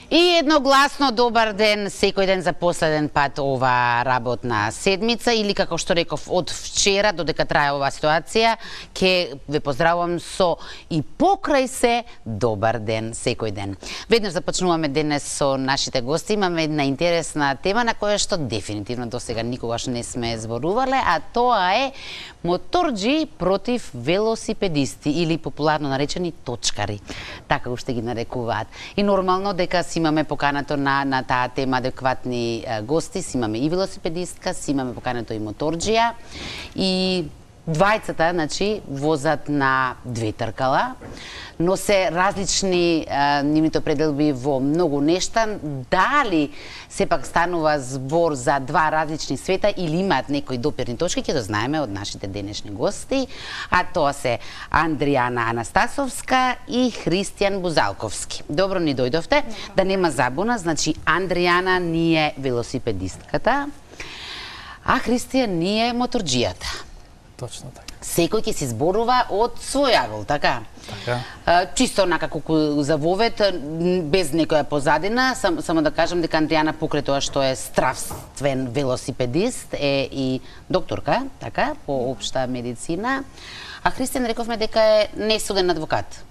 И едногласно добар ден, секој ден за последен пат ова работна седмица или како што реков од вчера додека трае оваа ситуација, ќе ве поздравувам со и покрај се добар ден секој ден. Веднаш започнуваме денес со нашите гости, имаме една интересна тема на која што дефинитивно досега никогаш не сме зборувале, а тоа е моторџи против велосипедисти или популарно наречени точкари. Така уште ги нарекуваат. И нормално дека имаме покането на таа тема адекватни гости, имаме и велосипедистка, имаме покането и моторџија и двајцата, значи, возат на две тркала, но се различни нивните пределби во многу нешта. Дали сепак станува збор за два различни света или имаат некои допирни точки, ќе го знаеме од нашите денешни гости, а тоа се Андријана Анастасовска и Христијан Бузалковски. Добро ни дојдовте. Да нема забуна, значи Андријана ни е велосипедистката, а Христијан ни е моторџијата. Точно така. Секој ќе се зборува од свој агол, така? Така. Чисто накако за вовет, без некоја позадина, само да кажам дека Андријана покрај тоа што е стравствен велосипедист е и докторка, така, по општа медицина, а Христијан рековме дека е несуден адвокат.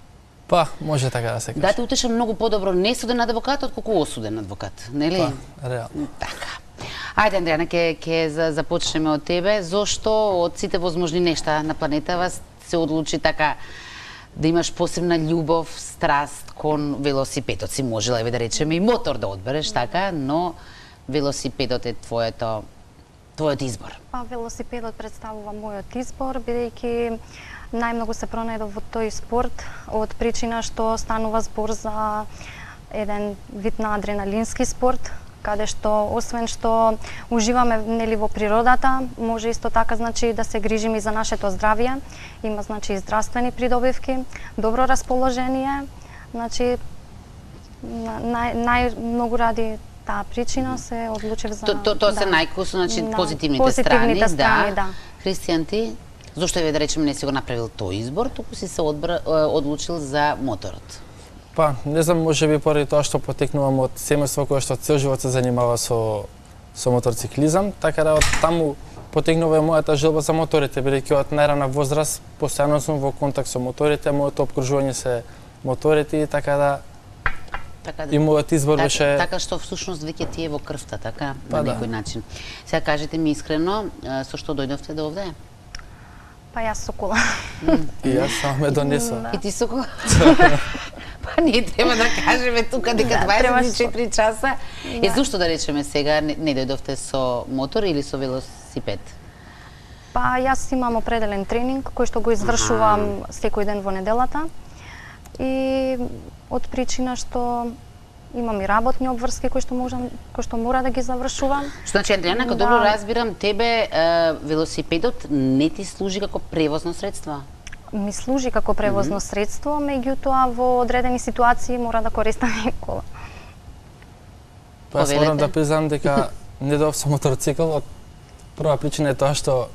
Па, може така да се каже. Да те утеша многу подобро несуден адвокат отколку осуден адвокат, нели? Па, реално. Така. Ајде, Андријана, ќе започнеме од тебе. Зошто од сите возможни нешта на планетава се одлучи така да имаш посебна љубов, страст кон велосипедот? Си можела, да речеме, и мотор да одбереш, така, но велосипедот е твојот избор. Па, велосипедот представува мојот избор, бидејќи најмногу се пронајдов во тој спорт од причина што станува збор за еден вид на адреналински спорт, каде што освен што уживаме нели во природата, може исто така значи да се грижиме и за нашето здравје. Има значи и здравствени придобивки, добро расположение, значи најмногу ради таа причина се одлучив за Тоа се најкусно, значи позитивните страни, да. Христијан, ти зошто да речеме не си го направил тој избор, туку си се одлучил за моторот? Па, не знам, може би поради тоа што потекнувам од семејство кое што цел живот се занимава со моторциклизам, така да од таму потекнува мојата желба за моторите, бидејќи од најрана возраст постојано сум во контакт со моторите, моето опкружување се моторите и така да и мојот избор беше така што всушност веќе ти е во крвта, така, па, на некој начин. Сега кажете ми искрено, со што дојдовте до овде? Па јас со кола. И јас само ме донесов. И ти со кола? Па ние треба да кажеме тука дека 24 часа. Зошто да речеме сега не дојдовте со мотор или со велосипед? Па јас имам определен тренинг кој што го извршувам секој ден во неделата и од причина што имам и работни обврски кои што мора да ги завршувам. Значи, Андријана, ако добро разбирам, тебе велосипедот не ти служи како превозно средство? Ми служи како превозно средство, меѓутоа во одредени ситуации мора да користам и кола. Па јас морам да признам дека не дојдов со моторцикл, од прва причина е тоа што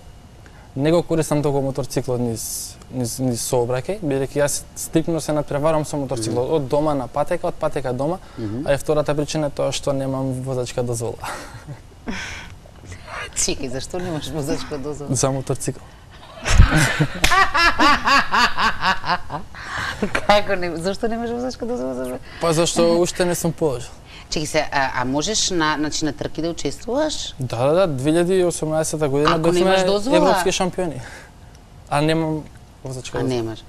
не го користам толку моторциклот низ сообраќај, бидејќи јас стрикно се натпреварам со моторциклот од дома на патека, од патека дома, а и втората причина е тоа што немам возачка дозвола. Чекај, зашто немаш возачка дозвола? За моторцикл. Како не? Зашто немаш возачка дозвола? Па зашто уште не сум положил. Чекај се, а можеш на трки да учествуваш? Да, 2018 година бевме европски шампиони. А немам возачка дозвола. А немаш.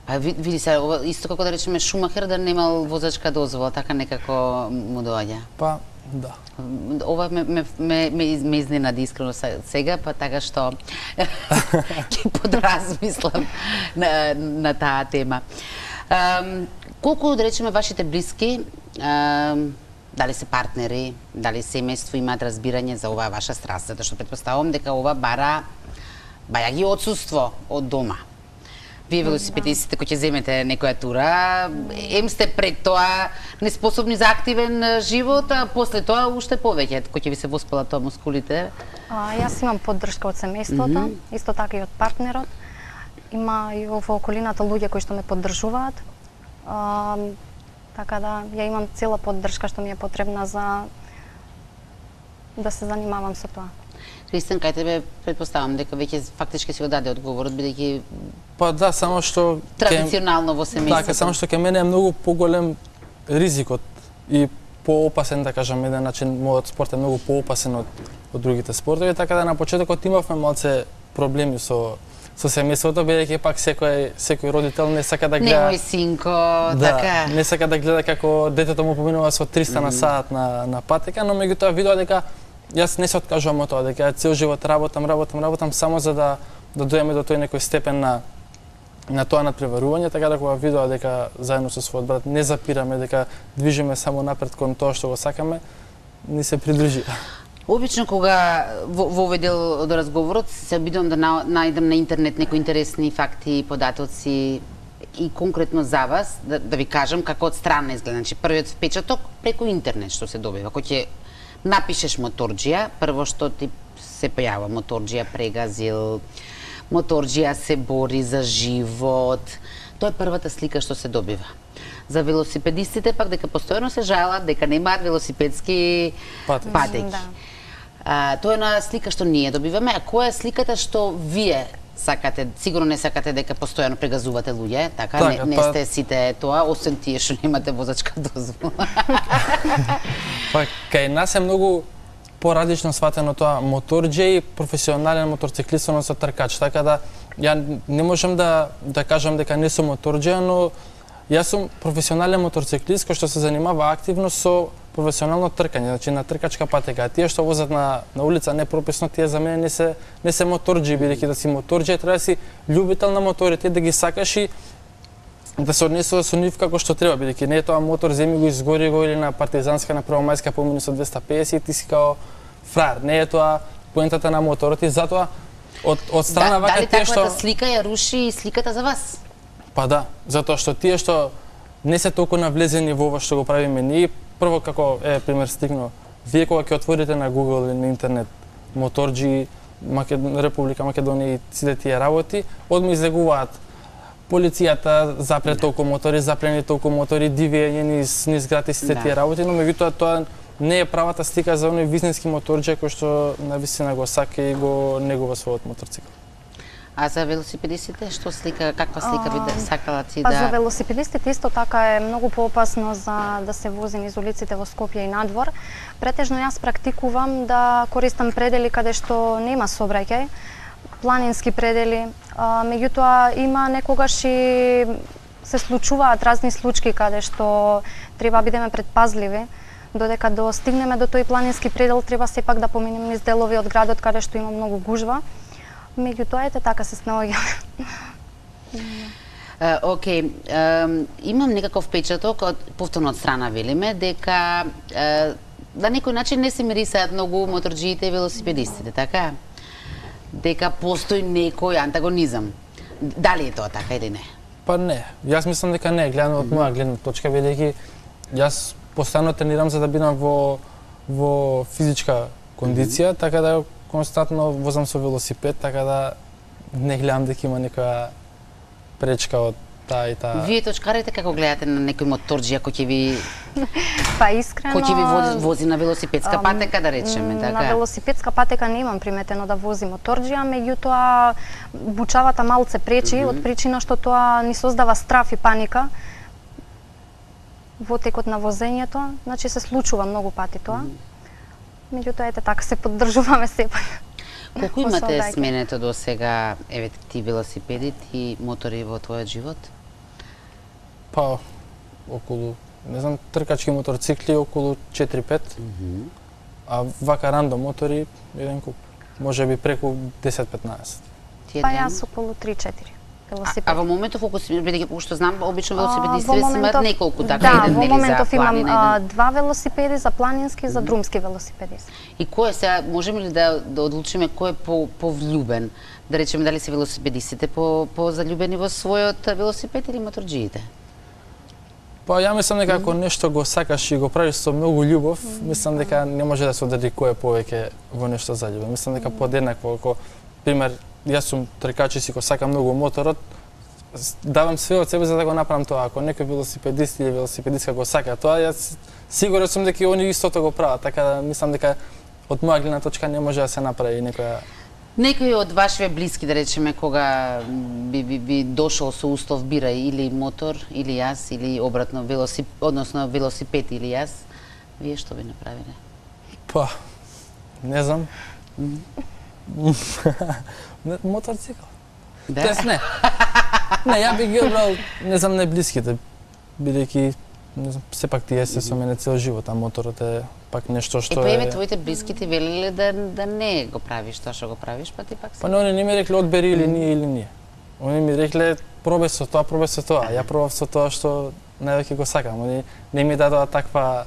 А види се, исто како да речеме Шумахер да немал возачка дозвола, така некако му доаѓа. Па, да. Ова ме изненади искрено сега, па така што ќе подразмислам на таа тема. Колку, да речеме, вашите блиски, дали се партнери, дали семејство имаат разбирање за оваа ваша страст, затоа што претпоставувам дека ова бара бајаги отсуство од дома. Вие велосипедистите кои ќе земете некоја тура, сте пред тоа неспособни за активен живот, а после тоа уште повеќе, кој ќе ви се воспалат тоа мускулите? Јас имам поддршка од семејството, исто така и од партнерот. Има и во околината луѓе кои што ме поддржуваат. Така да ја имам цела поддршка што ми е потребна за да се занимавам со тоа. Христијан, кај тебе претпоставам дека веќе фактички си го даде одговорот, бидејќи Па да, само што традиционално во семејството. Така, само што кај мене е многу поголем ризикот и поопасен, да кажам, еден начин мојот спорт е многу поопасен од другите спортови, така да на почетокот имавме малце проблеми со семејството, бидејќи пак секој родител не сака да гледа. Немој синко, така. Не сака да гледа како детето му поминува со 300 на сат на патека, но меѓутоа видоа дека јас не се откажувам од тоа, дека цел живот работам само за да дојдеме до тој некој степен на тоа надпреварување, така да кога видоа дека заедно со својот брат не запираме, дека движиме само напред кон тоа што го сакаме, ни се придружи. Обично кога во овој дел од разговорот се обидувам да најдам на интернет некои интересни факти и податоци и конкретно за вас, да ви кажам како од страна изгледа. Значи првиот впечаток преку интернет што се добива. Кога ќе напишеш моторџија, прво што ти се појава моторџија прегазил, моторџија се бори за живот. Тоа е првата слика што се добива. За велосипедистите пак дека постојано се жалат дека немаат велосипедски патеки. Тоа е една слика што ние добиваме, а која е сликата што вие сакате? Сигурно не сакате дека постојано прегазувате луѓе, така? Не сте сите тоа, освен тие што немате возачка дозвола. Па кај нас е многу поразлично сватено тоа моторџија и професионален моторциклист, односно тркач, така да ја не можам да кажам дека не сум моторџија, но јас сум професионален моторциклист кој што се занимава активно со професионално тркање, значи на тркачка патека. Тие што возат на улица непрописно, тие за мене не се моторџии, бидејќи да си моторџија треба да си љубител на моторите, да ги сакаш и да се однесува со нив како што треба, бидејќи не е тоа мотор земи го изгори го или на партизанска на Првомајска помини со 250 и ти си као фраер. Не е тоа поентата на моторот и затоа од страна вака тие што таквата слика ја руши и сликата за вас? Па да, затоа што тие што не се толку навлезени во ова што го правиме ние, прво како пример стигно, вие кога ќе отворите на Google или на интернет моторџии Република Македонија и сите тие работи, одма излегуваат полицијата запре толку мотори, запрени толку мотори, дивење низ град и сите тие работи, но меѓутоа тоа не е правата слика за оној визнески моторџија кој што навистина го сака и го негува својот моторцикл. А за велосипедистите што слика, каква слика би сакала ти Па да... за велосипедистите исто така е многу поопасно за да се вози низ улиците во Скопје и надвор. Претежно јас практикувам да користам предели каде што нема сообраќај, планински предели, меѓутоа има некогаш и се случуваат разни случаи каде што треба бидеме предпазливи. Додека достигнеме до тој планински предел, треба сепак да поминеме низ делови од градот каде што има многу гужва. Меѓутоа, ете така се снаоѓаме. Океј, имам некаков впечаток повторно од страна велиме дека на некој начин не се мирисаат многу моторџиите и велосипедистите, така? Дека постои некој антагонизам. Дали е тоа така или не? Па не, јас мислам дека не, гледано од моја гледна точка, бидејќи јас постојано тренирам за да бидам во физичка кондиција, така да константно возам со велосипед, така да не гледам дека има некоја пречка од таа и таа. Вие точкарите како гледате на некој моторџија кој ќе ви Па искрено кој ќе ви вози на велосипедска патека, да речеме, така? На велосипедска патека немам приметено да вози моторџија, меѓутоа бучавата малце пречи од причина што тоа ни создава страф и паника во текот на возењето, значи се случува многу пати тоа. Меѓутоа, ете така се поддржуваме сепак. Колку имате сменето до сега, ти велосипеди, ти мотори во твојот живот? Па, околу, не знам, тркачки моторцикли околу 4-5, а вака рандом мотори еден куп, може би преку 10-15. Па јас околу 3-4. А во моментов, бидејќи што знам, обично велосипедистите си имаат неколку така, да, еден во моментов имам планина, два велосипеди за планински и за друмски велосипеди. И кој е сега, можеме ли да одлучиме кој е повлюбен? Да речеме дали се велосипедистите позалюбени во својот велосипед или моторџиите? Па ја мислам дека ако нешто го сакаш и го правиш со многу љубов, мислам дека не може да се одреди кој е повеќе во нешто заљубен. Мислам дека подеднакво, ако пример јас сум тркач и си го сакам многу моторот, давам све од себе за да го направам тоа. Ако некој велосипедист или велосипедистка го сака тоа, јас сигурен сум дека и они истото го прават, така да мислам дека од моја гледна точка не може да се направи некоја. Некој од вашите блиски, да речеме, кога би дошол со устав бира или мотор, или јас, или обратно велосипед или јас, вие што би направиле? Па, не знам. Моторцикл. Да? Тоест не. Не, ја би ги одбрал, не знам, најблиските, бидејќи не знам, сепак тие се со мене цел живот, а моторот е пак нешто што е... Па твоите блиски ти велеле да не го правиш тоа што го правиш, па ти пак се... Па не, не ми рекле одбери или ние. Они ми рекле пробај со тоа, Ја пробав со тоа што највеќе го сакам. Они не ми дадоа таква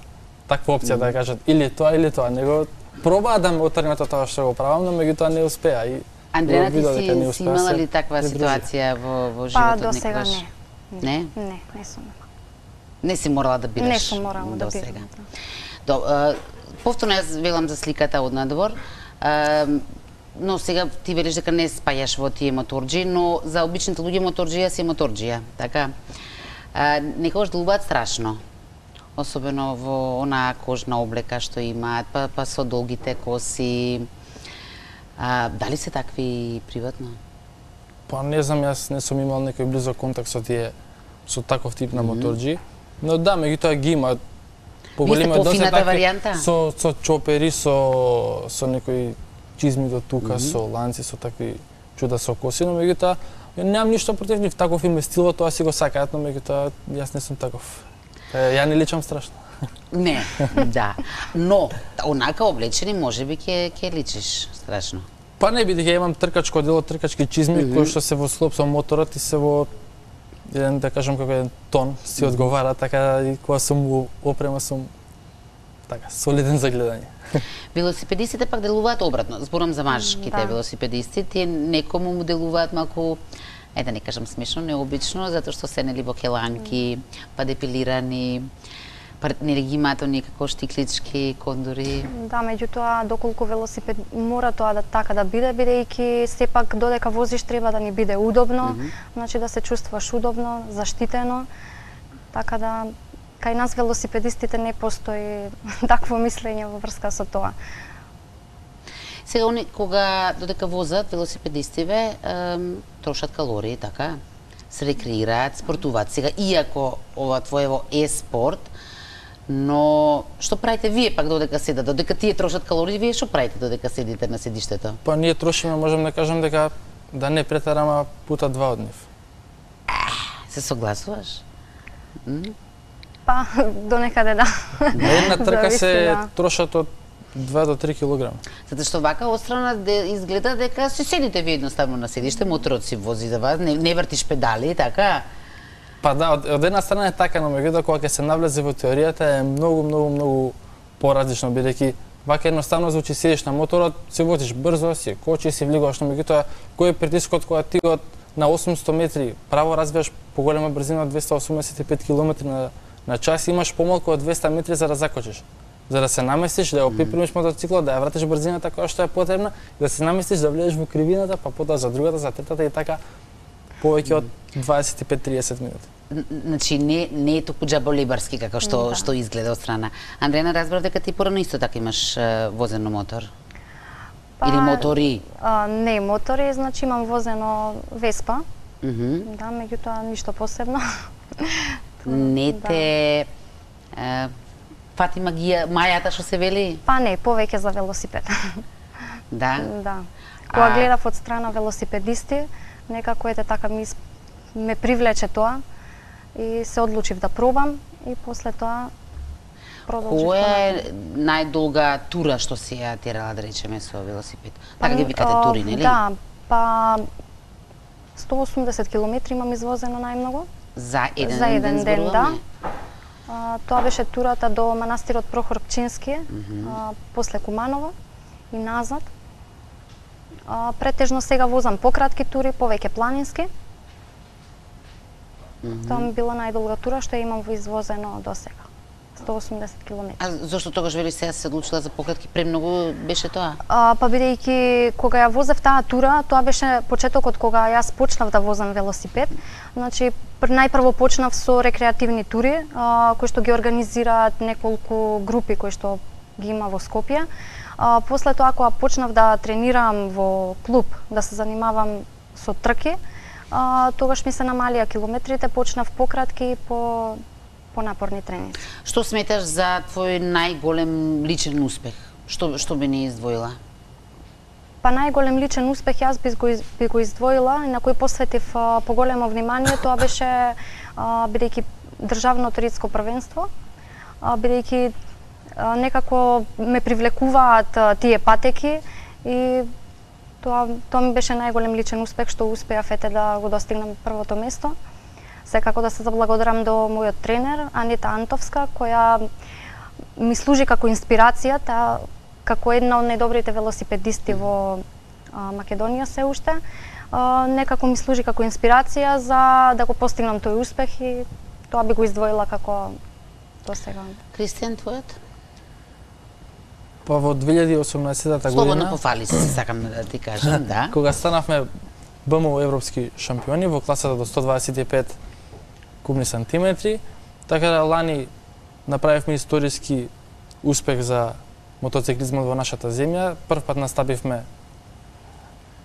опција да кажат или тоа, него пробаа да ме отргнат од тоа што го правам, но меѓутоа не успеа и Андрена, ти си имала ли таква ситуација во животот некогаш? Па, до сега не. Не? Не сум. Не си морала да бираш? Не сум морала да бирам. Повторно јас велам за сликата од надвор, но сега ти велиш дека не спајаш во тие моторџи, но за обичните луѓе моторџија си моторџија, така? Некогаш делуваат страшно, особено во онаа кожна облека што имаат, па со долгите коси. Дали се такви приватно? Па не знам, јас не сум имал некој близок контакт со таков тип на моторџи, но да, меѓутоа ги има поголемиот доза варијанта со чопери, со некои чизми до тука, со ланци, со такви чуда со коси, но меѓутоа немам ништо против нив, таков им е стилот, тоа си го сакаат, но меѓутоа јас не сум таков. Ја не личам страшно. Не, да. Но, онака облечени, можеби ќе личиш страшно. Па не, бидејќи имам тркачко дело, тркачки чизми, кои што се во склоп со моторот и се во еден, да кажам, како еден тон, си одговара, така и кога сум во опрема сум така, солиден за гледање. Велосипедистите пак делуваат обратно. Зборам за мажките велосипедисти, тие некому му делуваат малку, да не кажам смешно, необично, затоа што се нели во келанки, па депилирани, партнери ги имаат оние како штиклички, кондори. Да, меѓутоа доколку велосипед мора тоа така да биде, бидејќи сепак додека возиш треба да ни биде удобно, значи да се чувствуваш удобно, заштитено, така да кај нас велосипедистите не постои такво мислење во врска со тоа. Сега, они кога додека возат велосипедистиве, трошат калории, така? Се рекреираат, спортуваат. Сега, иако ова твоево е спорт, но што правите вие пак додека седат? Додека тие трошат калории, вие што правите додека седите на седиштето? Па ние трошиме, можам да кажам дека да не претараме пута 2 од нив. Се согласуваш? Па, до некаде да. На една трка се трошат од 2 до 3 килограми. Затоа што вака отстрана изгледа дека се седите ви едноставно на седиште, моторот си вози за вас, не вртиш педали, така? Па да, од една страна е така, но меѓутоа кога ќе се навлезе во теоријата е многу поразлично, бидејќи вака едноставно звучи, седиш на моторот, се возиш брзо, си кочи, си влегуваш, но меѓутоа кој е притискот кога ти на 800 метри право развиваш поголема брзина од 285 км на час, имаш помалку од 200 метри за да закочиш. За да се наместиш, да ја опипримиш мотоциклот, да ја вратиш брзината која што е потребна, да се наместиш, да влезеш во кривината, па потоа за другата, за третата и така повеќе од 25-30 минути. Значи не е толку џаболибарски како што изгледа од страна. Андрена, разбрав дека ти порано исто така имаш возено мотор. Или мотори? Не мотори, значи имам возено Веспа. Да, меѓутоа ништо посебно. Не те фати магија, мајата што се вели? Па не, повеќе за велосипед. Да? Да. Кога гледав од страна велосипедисти, некако така ме привлече тоа и се одлучив да пробам и после тоа продолжив. Која е најдолга тура што си ја терала, да речеме, со велосипед? Така ги викате тури, нели? Да, па 180 километри имам извозено најмногу. За еден ден, да. Тоа беше турата до манастирот Прохор Пчински, после Куманово и назад. Претежно сега возам пократки тури, повеќе планински. Тоа ми била најдолга тура што ја имам во извозено до сега. 180 км. А зошто тогаш вели сега се одлучила за пократки? Премногу беше тоа? Па бидејќи кога ја возев таа тура, тоа беше почетокот кога јас почнав да возам велосипед. Значи најпрво почнав со рекреативни тури, кои што ги организираат неколку групи кои што ги има во Скопје. После тоа кога почнав да тренирам во клуб, да се занимавам со трки, тогаш ми се намалија километрите, почнав пократки по напорни тренинзи. Што сметаш за твој најголем личен успех? Што би не издвоила? Па најголем личен успех јас би го издвоила и на кој посветив поголемо внимание, тоа беше бидејќи државното ридско првенство, бидејќи некако ме привлекуваат тие патеки и тоа ми беше најголем личен успех што успеав да го достигнам првото место. Секако да се заблагодарам до мојот тренер Анита Антовска, која ми служи како инспирација, како една од најдобрите велосипедисти во Македонија се уште. Некако ми служи како инспирација за да го постигнам тој успех и тоа би го издвоила како до сега. Кристијан, твојот? Па во 2018 година... Слободно пофали се, сакам да ти кажам, да. Кога станавме БМО европски шампиони во класата до 125 кубни сантиметри, така да лани направивме историски успех за мотоциклизмот во нашата земја. Прв пат настапивме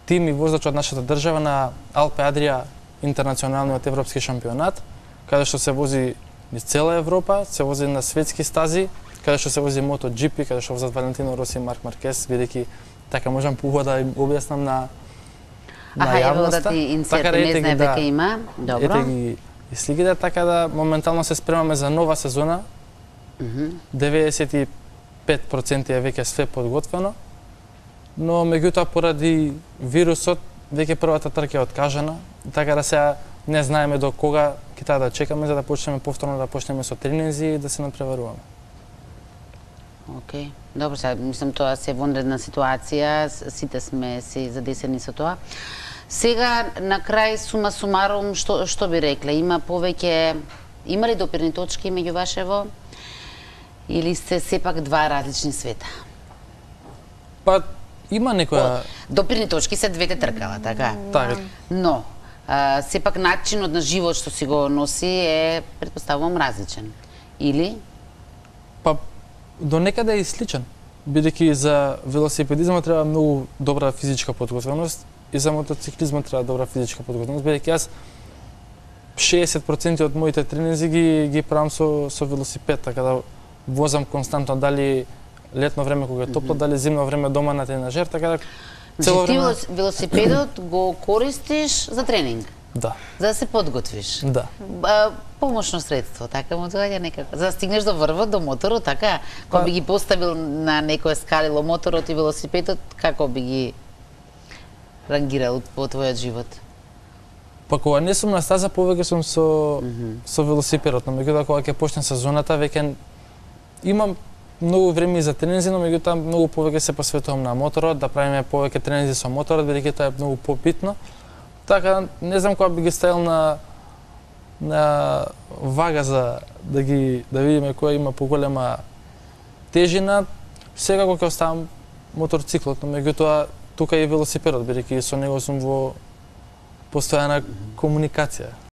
тим и возач од нашата држава на Алпе Адрија интернационалниот европски шампионат, каде што се вози низ цела Европа, се вози на светски стази, каде што се вози MotoGP, каде што возат Валентино Роси и Марк Маркес, бидејќи така можам поубаво да им објаснам на јавноста. Да ти инсерт, не знае дека има. Добро. Ете ги и сликите, така да моментално се спремаме за нова сезона. 95% е веќе све подготвено, но меѓутоа поради вирусот веќе првата трка е откажана, така да сега не знаеме до кога ќе таа да чекаме за да почнеме повторно да почнеме со тренинзи и да се надпреваруваме. Океј. Добро, сега мислам тоа се вонредна ситуација, сите сме се задесени со тоа. Сега на крај сума сумарум што би рекле? Има ли допирни точки меѓу вашево или сте сепак два различни света? Па има некоја допирни точки се двете тркала, така? Така. Но сепак начинот на живот што си го носи е, претпоставувам, различен. Или? Па до некаде е сличен, бидејќи за велосипедизмот треба многу добра физичка подготвеност и за мотоциклизмот треба добра физичка подготвеност, бидејќи јас 60% од моите тренинзи ги правам со велосипед, така да возам константно, дали летно време кога е топло, дали зимно време дома на тренажер, така да цело време... Ти велосипедот го користиш за тренинг? Да. За да се подготвиш? Да. Помошно средство, така му доаѓа некако. За да стигнеш до врвот, до моторот, така? Кога би ги поставил на некое скалило моторот и велосипедот, како би ги рангирал по твојот живот? Па кога не сум на стаза, повеќе сум со велосипедот, но меѓутоа кога ќе почне сезоната, веќе имам многу време за тренинзи, но меѓутоа многу повеќе се посветувам на моторот, да правиме повеќе тренинзи со моторот, бидејќи тоа е многу побитно. Така, не знам кога би ги ставил на вага за да видиме која има поголема тежина. Секако ќе оставам моторциклот, но меѓутоа тука и велосипедот, бидејќи со него сум во постојана комуникација.